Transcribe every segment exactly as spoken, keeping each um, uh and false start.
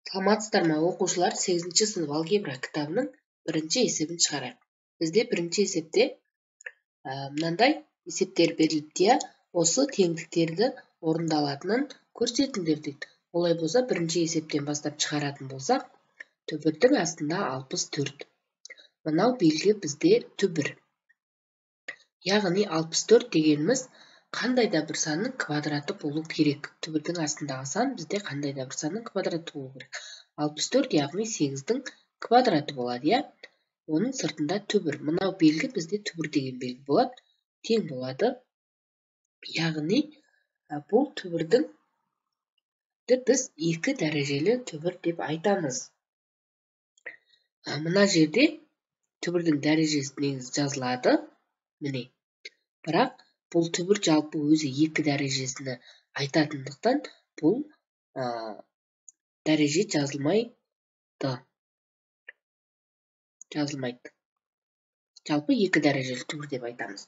Саламатсыздар ма оқушылар, сегізінші сынып алгебра кітабының бірінші есебін шығарайық. Бізде бірінші есепте ә, мынандай есептер беріліпті, иә, осы теңдіктерді орындалатынын көрсетіңдер дейді. Олай болса, бірінші есептен бастап шығаратын болсақ, түбірдің астында алпыс төрт. Мынау белгі бізде түбір. Яғни алпыс төрт дегеніміз қандай да бір санның квадраты болу керек. Түбірдің астындағы сан бізде қандай да бір санның квадраты болу керек. алпыс төрт яғни сегіздің квадраты болады, иә? Оның сыртында түбір. Мынау белгі бізде түбір деген белгі болады. Тең болады. Яғни бұл түбірдің біз екі дәрежелі түбір деп айтамыз. Мына жерде түбірдің дәрежесі негізі жазылады. Міне. Бірақ бұл түбір жалпы өзі екі дәрежесіне айтатындықтан бұл ә, дәреже жазылмайды. Жазылмайды. Жалпы екі дәрежелі түбір деп айтамыз.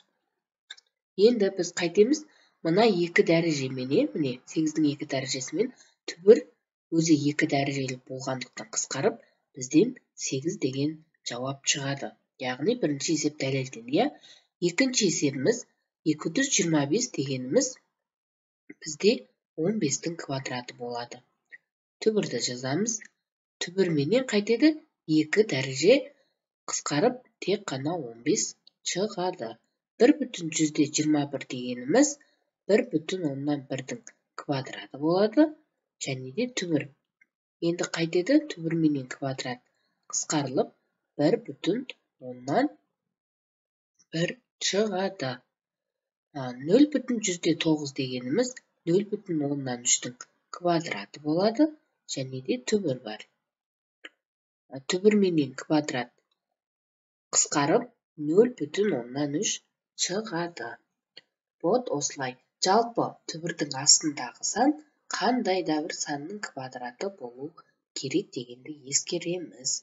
Енді біз қайтеміз? Мына екі дәрежеменен, міне сегіздің екі дәрежесімен түбір өзі екі дәрежелі болғандықтан қысқарып, бізден сегіз деген жауап шығады. Яғни бірінші есеп дәлелденді, иә? Екінші есебіміз екі жүз жиырма бес дегеніміз бізде он бестің квадраты болады. Түбірді жазамыз. Түбірменен қайтеді? екі дәреже қысқарып, тек қана он бес шығады. бір бүтін жүзден жиырма бір дегеніміз бір бүтін оннан бірдің квадраты болады. Және де түбір. Енді қайтеді? Түбірменен квадрат қысқарылып, бір бүтін оннан бір шығады. нөл бүтін жүзден тоғыз дегеніміз нөл бүтін оннан үштің квадраты болады. Және де түбір бар. Түбірменен квадрат қысқарып, нөл бүтін оннан үш шығады. Вот осылай. Жалпы түбірдің астындағы сан қандай да бір санның квадраты болу керек дегенді ескереміз.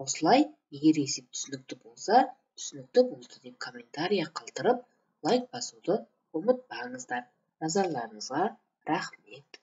Осылай, егер есеп түсінікті болса, түсінікті болды деп комментария қалдырып, лайк басуды ұмытпаңыздар. Назарларыңызға рахмет.